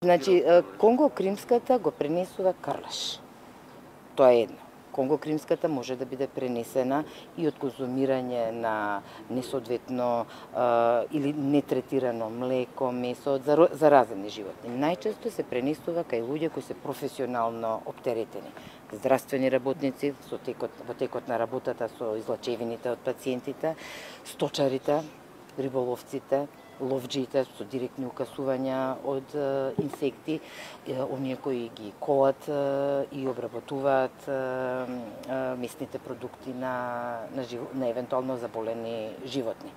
Значи, Конго-Кримската го пренесува Карлаш. Тоа е едно. Конго-Кримската може да биде пренесена и од конзумирање на несоодветно или нетретирано млеко, месо од заразени животни. Најчесто се пренесува кај луѓе кои се професионално оптеретени. Здравствени работници во текот на работата со излачевините од пациентите, сточарите, риболовците, ловџиите со директни укасувања од инсекти, оние кои ги колат и обработуваат месните продукти на евентуално заболени животни.